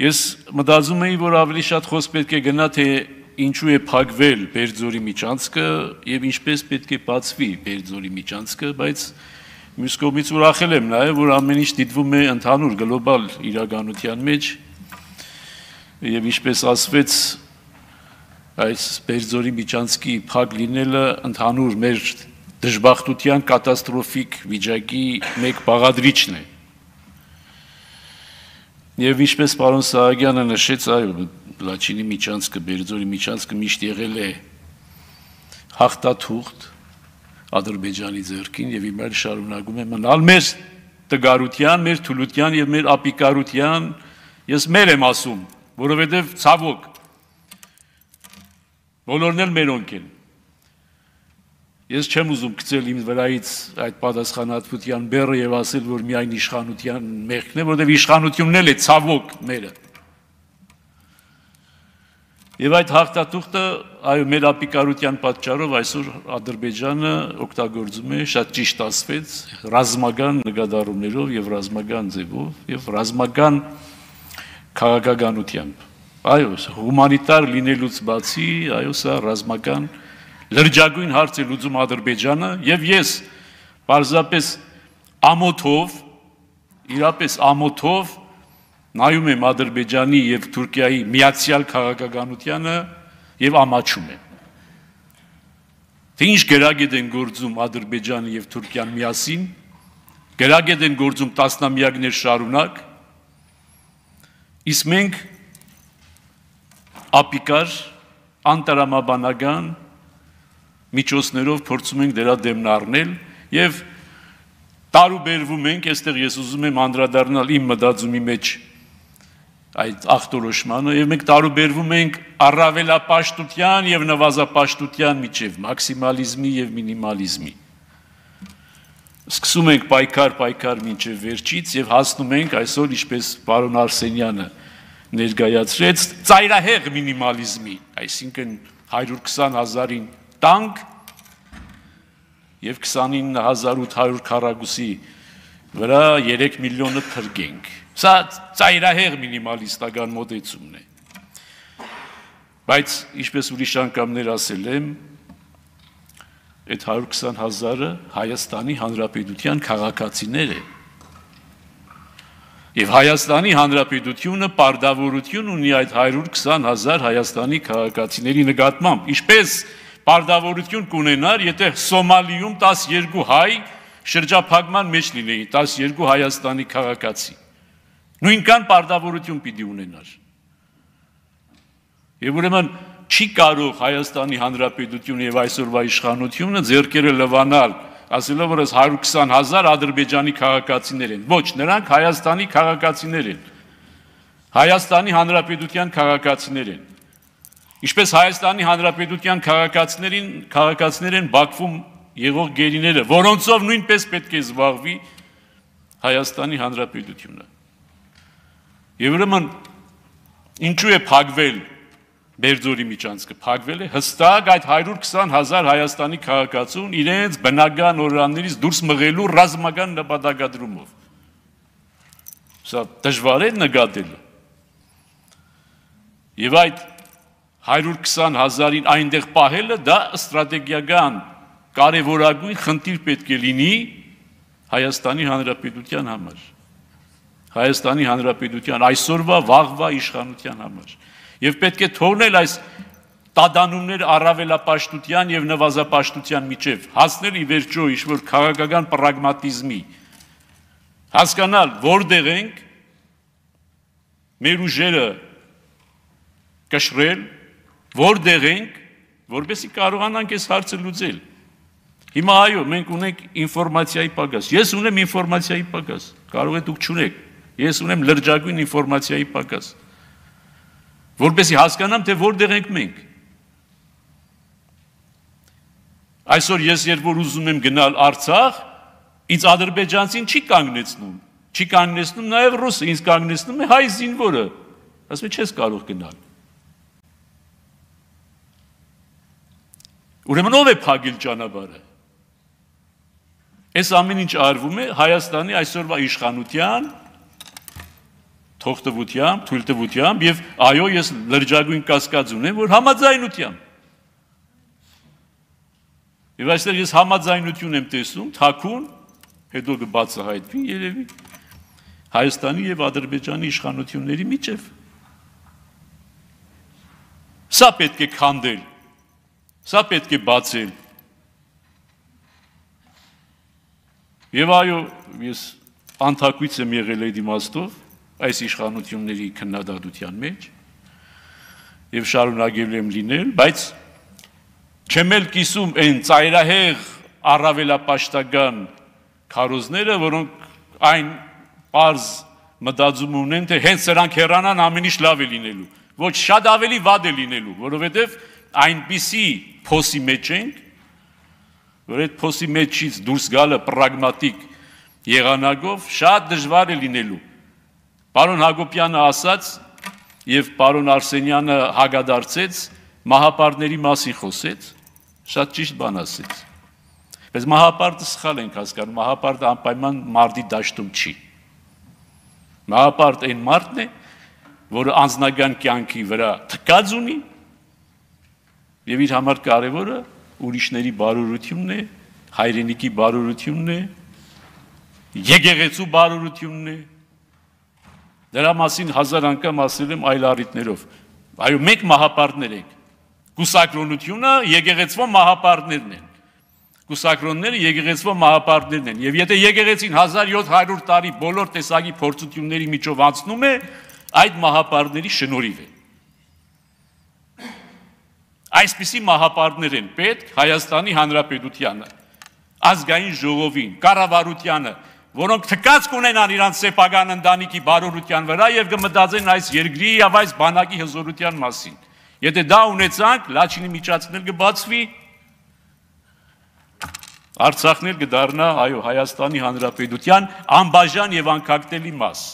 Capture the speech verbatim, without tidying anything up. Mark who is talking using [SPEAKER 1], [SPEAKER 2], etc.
[SPEAKER 1] Ես մտածում էի, որ ավելի շատ խոսք պետք է գնա, թե ինչու է փակվել Բերձորի միջանցքը եւ ինչպես պետք է բացվի Բերձորի միջանցքը, բայց մյուս կողմից ուրախել եմ նաեւ, որ ամեն ինչ դիտվում է ընդհանուր գլոբալ իրականության մեջ եւ ինչպես ասվեց, այս Բերձորի միջանցքի փակ լինելը ընդհանուր մեր դժբախտության կատաստրոֆիկ վիճակի մեկ բաղադրիչն է։ Եվ ինչպես պարոն Սահակյանը նշեց, այո, Լաչինի միջանցքը, Բերձորի միջանցքը միշտ եղել է հաղթաթուղթ Ադրբեջանի ձեռքին եւ հիմա շարունակում է մնալ մեր տգարության, մեր թուլության եւ մեր ապիկարության, ես մեր եմ ասում, որովհետեւ ցավոք բոլորն էլ մերոնք են։ Ես չեմ ուզում գցել իմ վրայից այդ պատասխանատվության բեռը եւ ասել, որ միայն իշխանության մեղքն է, որովհետեւ իշխանությունն էլ է ցավոք մերը։ Եվ այդ հաղթաթուղթը, այո, մեր ապիկարության պատճառով այսօր Ադրբեջանը օգտագործում է, շատ ճիշտ ասվեց, ռազմական նկատառումներով եւ ռազմական ձևով եւ ռազմական քաղաքականությամբ։ Այո, հումանիտար լինելուց բացի, այո, սա ռազմական լրջագույն հարց է լուծում Ադրբեջանը եւ ես պարզապես ամոթով, իրապես ամոթով նայում եմ Ադրբեջանի եւ Թուրքիայի միացյալ քաղաքականությանը եւ ամաչում եմ։ Թե ինչ գրագետ են գործում Ադրբեջանը եւ Թուրքիան միասին, գրագետ են գործում տասնամյակներ շարունակ, իսկ մենք ապիկար, անտարամաբանական միջոցներով փորձում ենք դրա դեմն առնել եւ տարուբերվում ենք, այստեղ ես ուզում եմ անդրադառնալ իմ մտածումի մեջ այդ ախտորոշմանը եւ մենք տարուբերվում ենք առավելապաշտության եւ նվազապաշտության միջև մաքսիմալիզմի եւ մինիմալիզմի։ Սկսում ենք պայքար պայքար մինչև վերջից եւ հասնում ենք այսօր, ինչպես պարոն Արսենյանը ներկայացրեց, ծայրահեղ մինիմալիզմի, այսինքն հարյուր քսան հազարին տանկ եւ քսանինը հազար ութ հարյուր քառակուսի վրա երեք միլիոնը թրգենք։ Սա ծայրահեղ մինիմալիստական մոտեցումն է։ Բայց ինչպես ուրիշ անգամներ ասել եմ, այդ հարյուր քսան հազարը Հայաստանի Հանրապետության քաղաքացիներ են։ Եվ Հայաստանի Հանրապետությունը պարտավորություն ունի այդ հարյուր քսան հազար Հայաստանի քաղաքացիների նկատմամբ, ինչպես պարտավորություն կունենար, եթե Սոմալիում տասներկու հայ շրջափակման մեջ լինեին, տասներկու Հայաստանի քաղաքացի։ Նույնքան պարտավորություն պիտի ունենար։ Եվ ուրեմն չի կարող Հայաստանի Հանրապետությունը եւ այսօրվա իշխանությունը ձեռքերը լվանալ, ասելով որ հարյուր քսան հազար Ադրբեջանի քաղաքացիներ են։ Ոչ, նրանք Հայաստանի քաղաքացիներ են։ Հայաստանի Հանրապետության քաղաքացիներ են։ Ինչպես Հայաստանի Հանրապետության քաղաքացիներին, քաղաքացիներ են Բաքվում եղող գերիները, որոնցով նույնպես պետք է զբաղվի Հայաստանի Հանրապետությունը։ Եվ ուրեմն ինչու է փակվել Բերձորի միջանցքը, փակվել է հստակ այդ հարյուր քսան հազար Հայաստանի քաղաքացուն իրենց բնական օրրաններից դուրս մղելու ռազմական նպատակադրումով։ Սա դժվար է նկատել։ Եվ այդ հարյուր քսան հազարին այնտեղ պահելը դա ստրատեգիական կարևորագույն խնդիր պետք է լինի Հայաստանի Հանրապետության համար։ Հայաստանի Հանրապետության այսօրվա վաղվա իշխանության համար։ Եվ պետք է թողնել այս տադանումներ առավելապաշտության եւ նվազապաշտության միջև, հասնել ի վերջո ինչ-որ քաղաքական պրագմատիզմի, հասկանալ որտեղ ենք, մեր ուժերը կշռել, որտեղ ենք, որպեսզի կարողանանք այս հարցը լուծել։ Հիմա այո, մենք ունենք ինֆորմացիայի պակաս։ Ես ունեմ ինֆորմացիայի պակաս, կարող է դուք չունեք։ Ես ունեմ լրջագույն ինֆորմացիայի պակաս, որպեսզի հասկանամ, թե որտեղ ենք մենք։ Այսօր ես երբ որ ուզում եմ գնալ Արցախ, ինձ ադրբեջանցին չի կանգնեցնում, չի կանգնեցնում նաև ռուսը, ինձ կանգնեցնում է հայ զինվորը, ասում է չես կարող գնալ։ Ուրեմն ով է փակել ճանապարհը։ Այս ամեն ինչ արվում է Հայաստանի այսօրվա իշխանության թողտվությամբ, թույլտվությամբ եւ այո, ես լրջագույն կասկած ունեմ, որ համաձայնությամբ։ Եվ այստեղ ես համաձայնություն եմ տեսնում, թաքուն, հետո կբացահայտվի երևի Հայաստանի եւ Ադրբեջանի իշխանությունների միջև։ Սա պետք է քանդել, սա պետք է բացել։ Եվ այո, ես անթակույց եմ եղել այդ իմաստով այս իշխանությունների քննադատության մեջ եւ շարունակել եմ լինել, բայց չեմ էլ կիսում այն ծայրահեղ առավելապաշտական քարոզները, որոնք այն պարզ մտածում ունեն, թե հենց սրանք հեռանան ամեն ինչ լավ է լինելու, ոչ շատ ավելի վատ է լինելու, որովհետև այնպիսի փոսի մեջ ենք, որ այդ փոսի մեջից դուրս գալը պրագմատիկ եղանակով շատ դժվար է լինելու։ Պարոն Հակոբյանը ասաց եւ պարոն Արսենյանը հագադարձեց, մահապարտների մասին խոսեց, շատ ճիշտ բան ասեց։ Բայց մահապարտը սխալ ենք հասկանում, մահապարտը անպայման մարդի դաշտում չի։ Մահապարտ այն մարդն է, որը անձնական կյանքի վրա թքած ունի եւ իր համար կարեւորը ուրիշների բարօրությունն է, հայրենիքի բարօրությունն է, եկեղեցու բարօրությունն է։ Դրա մասին հազար անգամ ասել եմ այլ առիթներով։ Այո, մենք մահապարտներ ենք։ Կուսակրոնությունը եկեղեցվո մահապարտներն են։ Կուսակրոնները եկեղեցվո մահապարտներն են։ Եվ եթե եկեղեցին հազար յոթ հարյուր տարի բոլոր տեսակի փորձությունների միջով անցնում է, այդ մահապարտների շնորհիվ է։ Այսպիսի մահապարտներ են պետք Հայաստանի Հանրապետությանը, ազգային ժողովին, կառավարությանը, որոնք թքած կունենան իրանց սեփական ընտանիքի բարօրության վրա եւ կմտածեն այս երկրի եւ այս բանակի հզորության մասին։ Եթե դա ունեցանք, Լաչինի միջանցքն էլ կբացվի, Արցախն էլ կդառնա, այո, Հայաստանի Հանրապետության անբաժան եւ անկախտելի մաս։